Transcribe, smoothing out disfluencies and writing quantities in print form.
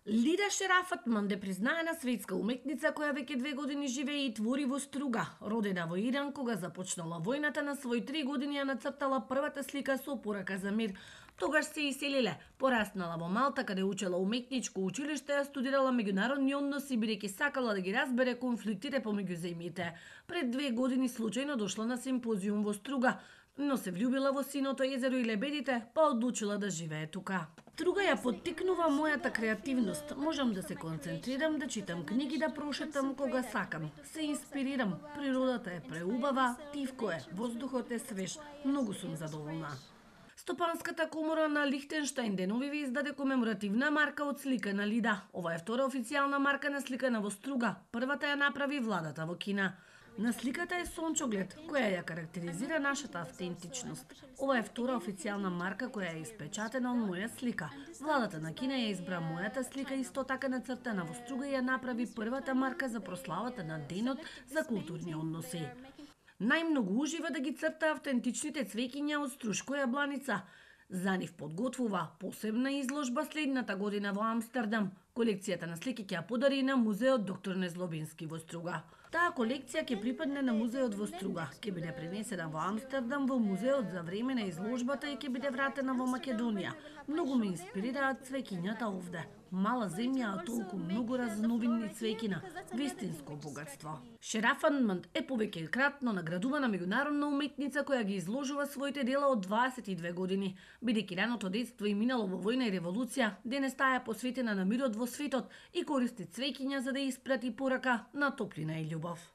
Лида Шерафатман е признаена светска уметница која веќе 2 години живее и твори во Струга. Родена во Иран, кога започнала војната, на свои 3 години ја нацртала првата слика со порака за мир. Тогаш се иселиле. Пораснала во Малта, каде учела уметничко училиште, ја студирала меѓународни односи, бидејќи сакала да ги разбере конфликтите помеѓу земјите. Пред 2 години случајно дошла на симпозиум во Струга, но се влюбила во синото езеро и лебедите, па одлучила да живее тука. Струга ја поттикнува мојата креативност. Можам да се концентрирам, да читам книги, да прошетам кога сакам. Се инспирирам. Природата е преубава, тивко е, воздухот е свеж. Многу сум задоволна. Стопанската комора на Лихтенштајн денови ви издаде комеморативна марка од слика на Лида. Ова е втора официјална марка на сликана во Струга. Првата ја направи владата во Кина. На сликата е сончоглед, која ја карактеризира нашата автентичност. Ова е втора официјална марка која е испечатена од моја слика. Владата на Кина ја избра мојата слика исто така нацртана во Струга и ја направи првата марка за прославата на Денот за културни односи. Најмногу ужива да ги црта автентичните цвеќиња од Струшко јабланица. За нив подготвува посебна изложба следната година во Амстердам. Колекцијата на слики ќе ја подари на музеот Доктор Незлобински во Струга. Таа колекција ќе припадне на музеот во Струга, ќе биде пренесена во Амстердам во музеот за време на изложбата и ќе биде вратена во Македонија. Многу ме инспирираат цвеќињата овде. Мала земја, а толку многу разновидни цвеќина, вистинско богатство. Шерафатман е повеќекратно наградувана меѓународна уметница која ги изложува своите дела од 22 години. Бидејќи раното детство и минало во војна и револуција, денес таа е посветена на мирот во светот и користи цвеќиња за да испрати порака на топлина и љубов.